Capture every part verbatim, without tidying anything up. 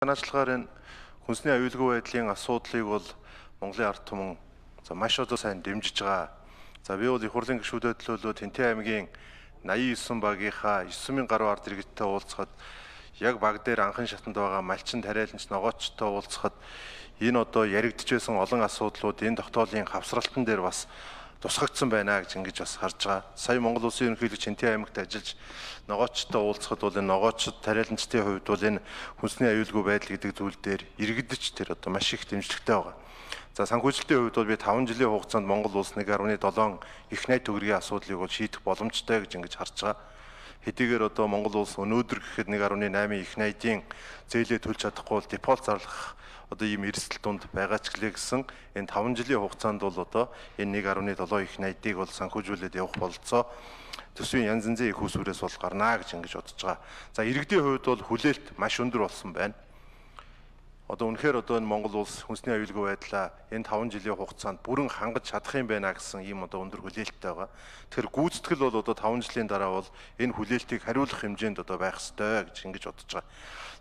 санаачлахаар энэ хүнсний аюулгүй байдлын асуудлыг бол Монголын ард түмэн за маш одоо сайн дэмжиж байгаа. За би бол их хурлын гишүүдэд төлөөлөө Тэнтэй аймгийн наян девять багийнхаа девять сая гаруй ард иргэдтэй уулзахад яг баг дээр анхан шатанд байгаа малчин тариаланч ногоочтой уулзахад энэ одоо яригдчихсэн олон асуудлууд энэ тогтоолын хавсралтан дээр бас тусгагдсан байна гэж ингэж бас харж байгаа. Сая Монгол Улсын ерөнхийлөгч Тэнтэй аймагт ажиллаж ногоочтой уулзахад бол энэ ногоочд тариаланчдын хувьд бол энэ хүнсний аюулгүй байдал гэдэг зүйл дээр иргэдэж тэр одоо маш их дэмжлэгтэй байгаа. За санхүүжилтийн хувьд бол би таван жилийн хугацаанд Монгол улс нэг гаруй долоо их найт төгрөгийн асуудлыг бол шийдэх боломжтой гэж ингэж харж байгаа. Хэдийгээр одоо Монгол улс өнөөдөр гэхэд нэг гаруй восемь их найдын зээлээ төлж чадахгүй бол дефолт зарлах одоо ийм эрсдэл тунд байгаа ч гэлээ гэсэн энэ таван жилийн хугацаанд бол одоо энэ нэг гаруй семь их найдыг бол санхүүжүүлээд явах бололцоо төсвийн янз янзын их усүрээс бол гарнаа гэж ингэж бодож байгаа. За иргэдийн хувьд бол хүлээлт маш өндөр болсон байна. Одоо үнэхээр одоо энэ Монгол улс хүнсний аюулгүй байдлаа энэ таван жилийн хугацаанд бүрэн хангаж чадах юм байна гэсэн ийм одоо өндөр хүлээлттэй байгаа. Тэгэхээр гүйцэтгэл бол одоо таван жилийн дараа бол энэ хүлээлтийг хариулах хэмжээнд одоо байх ёстой гэж ингэж бодож байгаа.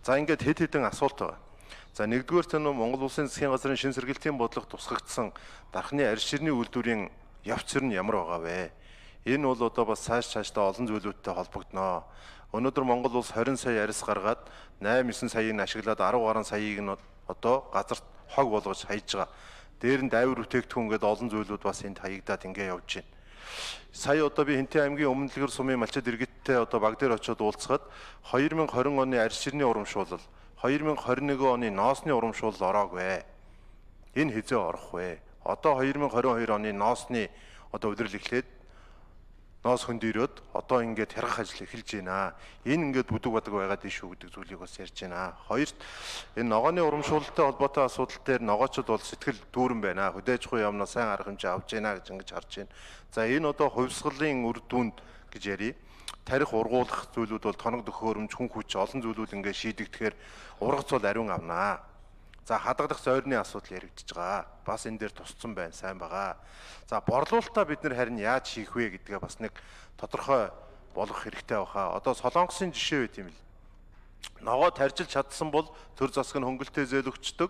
За ингээд хэд хэдэн асуулт байгаа. За нэгдүгээр нь Монгол улсын засгийн газрын шин сэргээлтийн бодлого тусгагдсан дархны арьс ширний үйлдвэрийн явц зэр нь ямар байгаа вэ? Энэ бол одоо бас цааш цаашдаа олон зүйлүүдтэй холбогдно. Өнөөдөр Монгол улс двадцать сая арьс гаргаад восемь девять саяыг ашиглаад десять гаруй саяыг нь одоо газарт хог болгож хаяж байгаа. Дээр нь дайвар бүтээгдэхүүн гэдэг олон зүйлүүд бас энд хаягдаад ингэ явж байна. Сая одоо би Хэнтэй аймгийн Өмнөдлгөр сумын малчид иргэдтэй одоо баг дээр очиод уулзахад две тысячи двадцать оны арьс ширний урамшуулал две тысячи двадцать один оны ноосны урамшуулал ороогүй. Энэ хизээ орох вэ? Одоо две тысячи двадцать two оны ноосны одоо удирдал эхлээд ноос хөндөрөөд одоо ингээд хяргах ажил эхэлж байна. Энэ ингээд бүдэг бадаг байгаад ишүү гэдэг зүйлийг бас ярьж байна. Хоёрт энэ ногооны урамшуулалтай холбоотой асуудал дээр ногоочд бол сэтгэл дүүрэн байна. Хөдөөж хуй юмнаа сайн арга хэмжээ авч байна гэж ингэж харж байна. За энэ одоо хувьсгалын үр дүнд гэж ярий. Тарих ургуулах зүйлүүд бол тоног төхөөрөмж, хүн хүч олон зүйлүүд ингээд шийдэгдэхээр ургац бол ариун авнаа. За хадгалах зойрны асуудал яригдж байгаа. Бас энэ дээр тусцсан байна, сайн байгаа. За борлуулалтаа бид нэр харин яаж хийх вэ гэдгээ бас нэг тодорхой болгох хэрэгтэй баха. Одоо Солонгосын жишээ байт юм л. Ногоо таржилж чадсан бол төр засаг нь хөнгөлтэй зээл өгчдөг.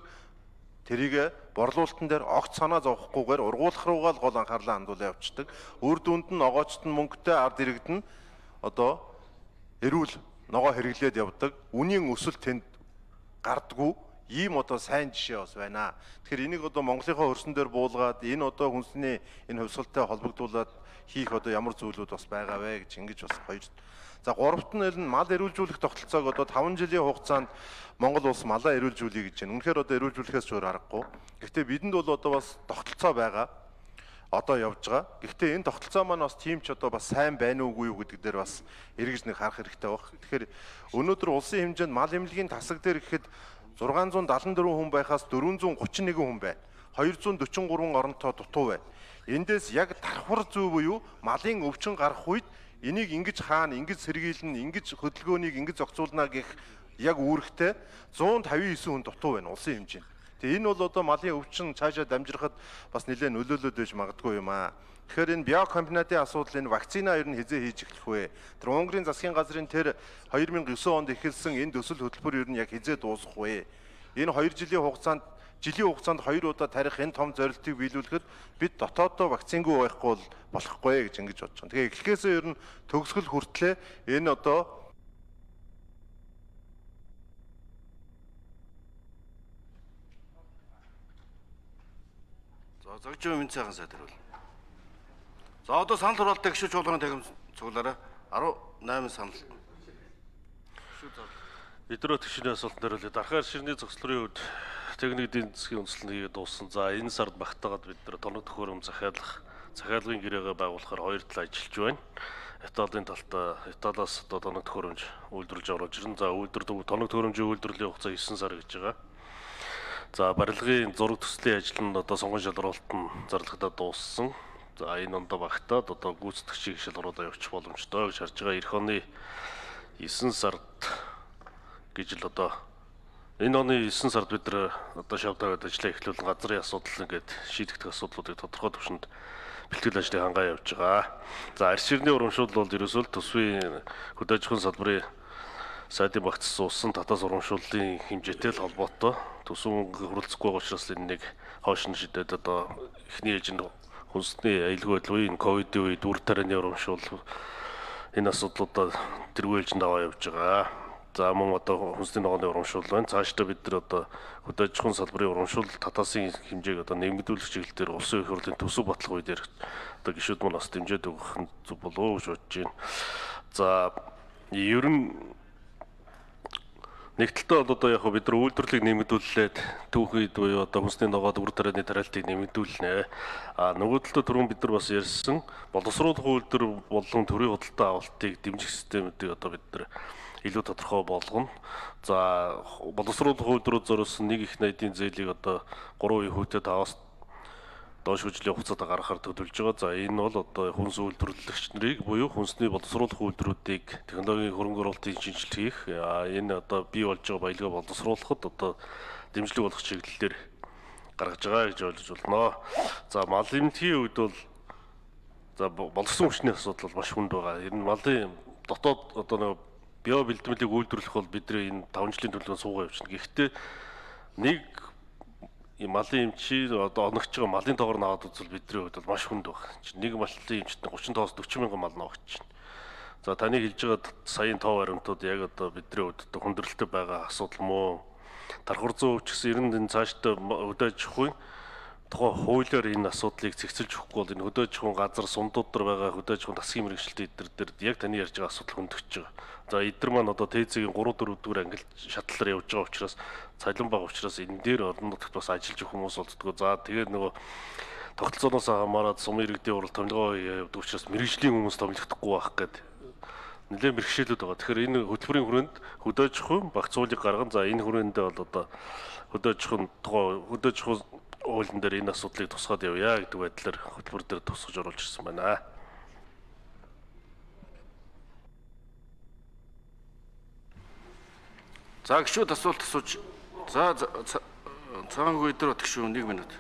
Тэрийг борлуулалтан дээр огт санаа зовхгүйгээр ургуулах руугаа л гол анхаарлаа хандуулаад явцдаг. Үр дүнд нь ногоочт нь мөнгөтэй ард иргэд нь одоо эрүүл ногоо хэрэглээд явдаг. Үнийн өсөлт тэнд гардггүй. Ийм одоо сайн жишээ бас байна. Тэгэхээр энийг одоо Монголынхаа хөрсөн дээр буулгаад энэ одоо хүнсний энэ хувьсгалтай холбогдуулаад хийх одоо ямар зүйлүүд бас байгаа вэ гэж ингэж бас хоёр. За гуравт нь мал эрүүлжүүлэх тогтолцоог одоо таван жилийн хугацаанд Монгол улс малаа эрүүлжүүлэе гэж байна. Үнэхээр одоо эрүүлжүүлэхээс зөөр аргагүй. Гэхдээ бидэнд бол одоо бас тогтолцоо байгаа. Одоо явж байгаа. Гэхдээ энэ тогтолцоо маань бас тийм ч одоо бас сайн байна уугүй юу гэдэг дээр бас эргэж нэг харах хэрэгтэй баг. Тэгэхээр өнөөдөр улсын хэмжээнд мал эмнэлгийн тасаг дээр гэхэд six seventy four хүн байхаас four thirty one хүн байна. two forty three оронтой дутуу байна. Эндээс яг давхар зөв буюу малын өвчин гарах үед энийг ингэж хаана, ингэж сэргийлнэ, ингэж хөдөлгөөнийг ингэж зохицуулна гэх яг үүрэгтэй one fifty nine хүн дутуу байна улсын хэмжээнд. Тэгээ энэ бол одоо малын өвчин цаашаа дамжирахад бас нэлээд нөлөөлөд байж магадгүй юм аа. Тэгэхээр энэ биокомбинатын асуудал энэ вакцина ер нь хизээ хийж эхлэх вэ? Тэр Унгарийн засгийн газрын тэр two thousand nine онд эхэлсэн энэ төсөл хөтөлбөр ер нь яг хизээ дуусах вэ? Энэ two жилийн хугацаанд жилийн хугацаанд хоёр удаа тарих энэ том зорилтыг биелүүлэхэд бид дотооддоо вакцингүй байхгүй бол болохгүй гэж ингэж бодож байна. Тэгээ эхлэхээсээ ер нь төгсгөл хүртлээ энэ одоо За зогжоо минь цаахан сайд хариул. За одоо санал хураалттай гишүүч болгоны тахим цуглаарай. eighty-eight санал. Өдрөө тгшний асуултанд хариулъя. Дархаар ширний зохицлын үед техник эдийн засгийн үндэслэл хийгээд дууссан. За энэ сард багтаагаад бид нэр тоног төхөөрөм захиалах, захиалгын гэрээгээ байгуулахаар хоёр тал ажиллаж байна. Италийн талтай Италиас одоо тоног төхөөрөмж үйлдвэрлэж оруулж ирнэ. За үйлдвэрлэл тоног төхөөрөмжийн үйлдвэрлэлийн хугацаа nine сар гэж байгаа. За барилгын зураг төслийн ажил нь одоо сонгон шалралт нь зарлагдаад дууссан. За энэ ондоо багтаад одоо гүйцэтгэгчийг шалгаруулаад явчих боломжтой гэж харж байгаа. Эх оны nine сард гэж л одоо энэ оны nine сард бид нар одоо шавтаад ажиллаа эхлүүлэн газрын асуудал ингээд шийдэгдэх асуудлуудыг тодорхой түвшинд бэлтгэл ажлыг хангаа явж байгаа. За арьс ширний урамшуул бол ерөөсөө төсвийн хөдөө аж ахуйн салбарын сайдын багц суусан татаас урамшууллын хэмжээтэй л холбоотой төсөв мөнгө хөрөлцөхгүй байгаа учраас энэ нэг хойш нь шидэд одоо эхний ээлжинд хүнсний аюулгүй байдал үеийн ковидын үед үр тарианы урамшуул энэ асуудлуудаа тэргүй ээлжинд аваа явж байгаа. За мөн одоо хүнсний ногооны урамшуул байна. Цаашдаа бид нар одоо хөдөө аж ахуйн салбарын урамшуул татаасын хэмжээг одоо нэмэгдүүлэх чиглэлээр улсын их хурлын төсөв бодлого үеэр одоо гишүүд маань бас дэмжиж өгөх нь зүг болов уу гэж бодож байна. За ер нь нэг талдаа одоо яг бид нар үйлдвэрлэлийг нэмэгдүүлээд түүхийд буюу одоо хүнсний ногоод үр тарианы тариалтыг нэмэгдүүлнэ. А нөгөө талдаа түрүүн бид нар бас ярьсан боловсруулах үйлдвэр болон төрийн худалдаа авалтыг дэмжих системүүдийг одоо бид нар илүү тодорхой болгоно. За боловсруулах үйлдвэрүүд зориулсан нэг их найдын зээлийг одоо гурван хувьтай таваас доош хөгжлийн хугацаанд гаргахаар төлөвлөж байгаа. За энэ бол одоо хүнс үйлдвэрлэгч нарыг буюу хүнсний боловсруулах үйлдвэрүүдийг технологийн хөрөнгө оруулалтын шинжилт хийх, энэ одоо бий болж байгаа баялгаа боловсруулахад одоо дэмжлэг болох чиглэлээр гаргаж байгаа гэж ойлгож байна. За мал эмнэлгийн үед бол за боловсон хүчний асуудал бол маш хүнд байгаа. Ер нь малын дотоод одоо нэг био бэлтгэлийг үйлдвэрлэх бол бидний энэ таван жилийн төлөвлөгөөнд суугаа явуулна. Гэхдээ нэг малын эмчи одоо оногч байгаа малын тоогоор наваад үзвэл бидний хувьд бол маш хүнд байна. Нэг малын эмчт гурван тоос дөрвөн мянган мал навагч байна. За таны хэлж байгаа саяын тоо баримтууд яг одоо бидний хувьд одоо хүндрэлтэй байгаа асуудал мó? Дархур зүүн өвч гэсэн ер нь энэ цаашдаа хөдөө аж ахуйн тухайн хуулиар энэ асуудлыг зэгцэлж өгөхгүй бол энэ хөдөө аж ахуйн газар сумдууд дээр байгаа хөдөө аж ахуйн засгийн мэргэжилтийн эдэр дээр яг таны ярьж байгаа асуудал хөндөгч байгаа. За эдгээр маань одоо ТЭЦ-ийн гурав дөрөв дэх ангилт шатлалаар явж байгаа учраас цалин бага учраас энэ дээр орон нутагт бас ажиллаж өгөх хүмүүс болдгоо. За тэгээд нөгөө тогтолцооноос хамаарат сумын иргэдийн урал томилгоо явдаг учраас мэргэжлийн хүмүүс томилогдохгүй байх гэдэг нэлээд бэрхшээлүүд байгаа. Тэгэхээр энэ хөтөлбөрийн хүрээнд хөдөө аж ахуйн багц хуулийг гаргана. За энэ хүрээндээ бол одоо хөдөө аж ахуйн тухай хөдөө аж ахуйн хуулийн дээр энэ асуудлыг тусгаад явъя гэдэг байдлаар хөтөлбөр дээр тусгаж оруулж ирсэн байна. За гişүүд асуулт асууж. За цагаангүй дээр гişүү нэг минут.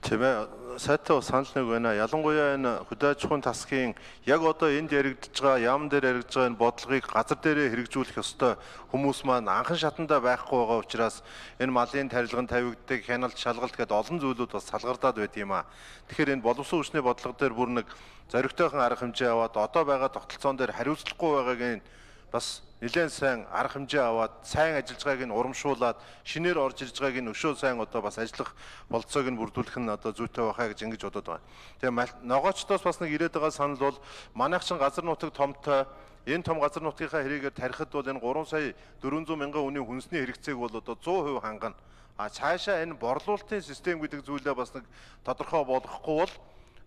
Тэмээ сайтай санал нэг байна. Ялангуяа энэ хөдөө аж ахуйн тасгийн яг одоо энд яригдж байгаа яам дээр яригдж байгаа энэ бодлогыг газар дээрээ хэрэгжүүлэх ёстой хүмүүс маань анхан шатандаа байхгүй байгаа учраас энэ малын тарилган тавигддаг, хяналт, шалгалт гэдэг олон зүйлүүд бас салгардаад байт юм аа. Тэгэхээр энэ боловсон хүчний бодлого дээр бүр нэг зоригтойхон арга хэмжээ аваад одоо байгаа тогтолцоон дээр хариуцлагагүй байгааг нь бас нэлээд сайн арга хэмжээ аваад сайн ажиллаж байгааг нь урамшуулад шинээр орж ирж байгааг нь өшөө сайн одоо бас ажиллах болцоог нь бүрдүүлэх нь одоо зүйтэй байхаа гэж ингэж бодод байна. Тэгээ ногоочдоос бас нэг ирээд байгаа санал бол манайх чин газар нутаг томтой энэ том газар нутгийнхаа хэрэгээр тарихад бол энэ гурван сая дөрвөн зуун мянган үнийн хүнсний хэрэгцээг бол одоо зуун хувь хангана. А цаашаа энэ борлуулалтын систем гэдэг зүйлээ бас нэг тодорхой болгохгүй бол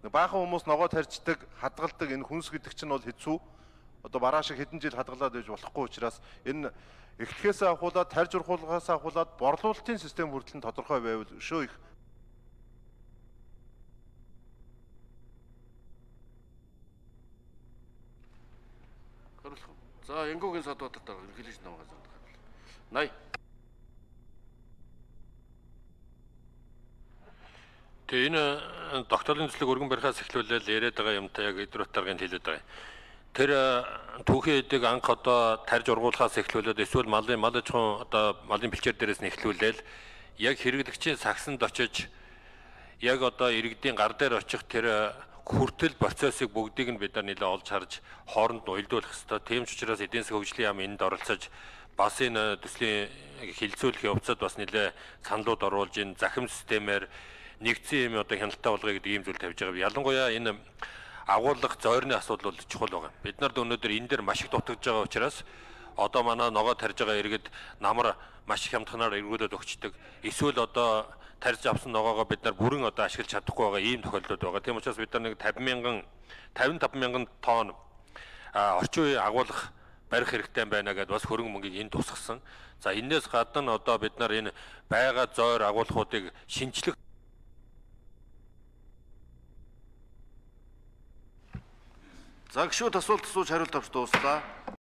баахан хүмүүс ногоо тарьждаг, хадгалдаг энэ хүнс гэдэг чинь бол хэцүү. Одоо бараа шиг хэдэн жил хадгалаад байж болохгүй учраас энэ эхлэхээс ахуулаад тарж урхуулгаас ахуулаад борлуулалтын систем хүртэл нь тодорхой байвал өшөө их За Янгогийн садуудад ерөнхийлөгч намгаа заадаг. Най. Тэгээ энэ докторийн төслийг өргөн барихаас эхлүүлээд яриад байгаа юмтай яг өдрөт дарганд хэлээд байгаа. Тэр түүхийн эдэг анх одоо тарж ургуулахаас эхлүүлээд эсвэл малын мал аж ахуйн одоо малын бэлчээр дээрээс нь эхлүүлээл яг хэрэглэгчийн сагсанд очиж яг одоо иргэдийн гар дээр очих тэр хүртэл процессыг бүгдийг нь бид нар нэлээд олж харж хооронд нь уялдуулах хэрэгтэй. Тийм ч учраас эдийн засгийн хөгжлийн яам энд оролцож бас энэ төслийн хилцүүлэх явцад бас нэлээд саналууд оруулж энэ захим системээр нэгдсэн юм одоо хяналтаа болгоё гэдэг ийм зүйл тавьж байгаа. Ялангуяа энэ агуулга зойрны асуудал бол чухал байгаа. Бид нарт өнөөдөр энэ дээр маш их дутагдж байгаа учраас одоо манай ногоо тарж байгаа иргэд намар маш их хямдханаар эргүүлээд өгчдөг. Эсвэл одоо тарж авсан ногоогоо бид нар бүрэн одоо ашиглаж чадахгүй байгаа ийм тохиолдлууд байгаа. Тийм учраас бид нар нэг тавин мянган тавин таван мянган тонн орчин үеийн агуулга барих хэрэгтэй байна гэдээ бас хөрөнгө мөнгийг энэ тусгасан. За энээс гадна одоо бид нар энэ байга зойр агуулгуудыг шинжлэх За гişүүд асуулт асууж хариулт авч дууслаа.